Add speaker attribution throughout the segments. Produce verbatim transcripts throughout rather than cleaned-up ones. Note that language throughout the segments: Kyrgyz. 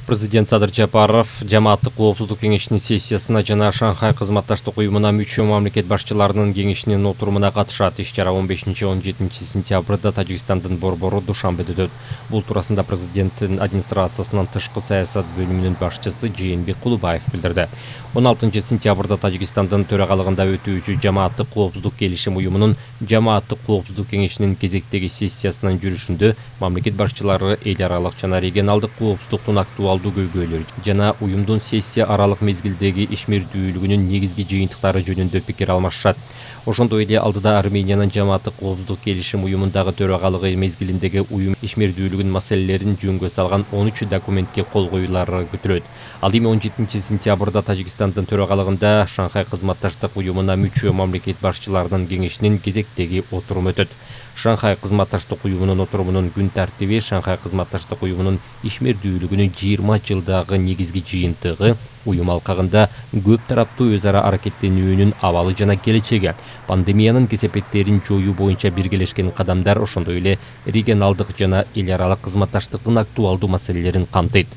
Speaker 1: Президент Садыр Жапаров жамааттык коопсуздук кеңешинин сессиясына жана Шанхай кызматташтык уюмуна мүчө мамлекет башчыларынын кеңешинин отурумуна катышат. Иш-чара он бешинчи — он жетинчи сентябрда Тажикстандын борбору Душанбеде өтөт. Бул туурасында президенттин администрациясынын тышкы саясат бөлүмүнүн башчысы Жээнбек Кулубаев билдирди. он алтынчы сентябрда Тажикстандын төрагалыгында өтүүчү жамааттык коопсуздук келишим уюмунун жамааттык коопсуздук кеңешинин кезектеги сессиясынын жүрүшүндө мамлекет башчылары эл аралык жана регионалдык коопсуздуктун актуалдуу көйгөйлөрү жана уюмдун сессия аралык мезгилдеги ишмердүүлүгүнүн негизги жыйынтыктары жөнүндө пикир алмашышат. Ошондой эле алдыда Армениянын жамааттык коопсуздук келишим уюмундагы төрагалыгы мезгилиндеги уюм ишмердүүлүгүнүн маселелерин жөнгө салган он үч документке кол коюулары күтүлөт. Ал эми он жетинчи сентябрда Тажикстандын төрагалыгында Шанхай кызматташтык уюмуна мүчө мамлекет башчыларынын кеңешинин кезектеги отуруму өтөт. Шанхай кызматташтык уюмунун отурумунун күн тартиби Шанхай кызматташтык уюмунун ишмердүүлүгүнүн жыйырма жылдагы негизги жыйынтыгы, уюм алкагында көп тараптуу өз ара аракеттенүүнүн абалы жана келечеги, пандемиянын кесепеттерин жоюу боюнча биргелешкен кадамдар, ошондой эле регионалдык жана эл аралык кызматташтыктын актуалдуу маселелерин камтыйт.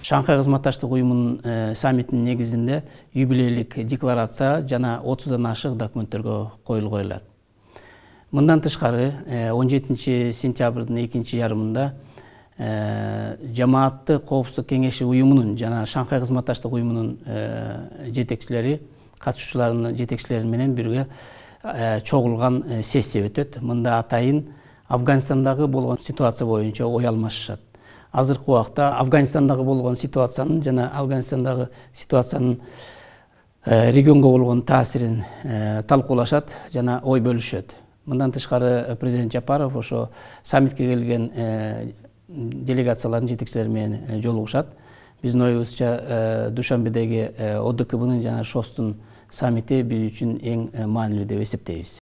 Speaker 2: Шанхай кызматташтык уюмунун саммитинин негизинде юбилейлик декларация жана отуздан ашык документтерге коюл коюлат. Мындан тышкары он жетинчи сентябрдын экинчи жарымында жамааттык коопсуздук кеңеши уюмунун жана Шанхай кызматташтык уюмунун жетекчилери, катышуучуларынын жетекчилери менен бирге чогулган сессия өтөт. Мында атайын Афганистандагы болгон ситуация боюнча ой алмашышат. Азыркы убакта Афганистандагы болгон ситуациянын жана Афганистандагы ситуациянын регионго болгон таасирин талкуулашат жана ой бөлүшөт. Мындан тышкары президент Жапаров ошо саммитке келген делегациялардын жетекчилери менен жолугушат. Биздин оюбузча Душанбедеги О Д К Б'нын жана ШОСТун саммити биз үчүн эң маанилүү деп эсептейбиз.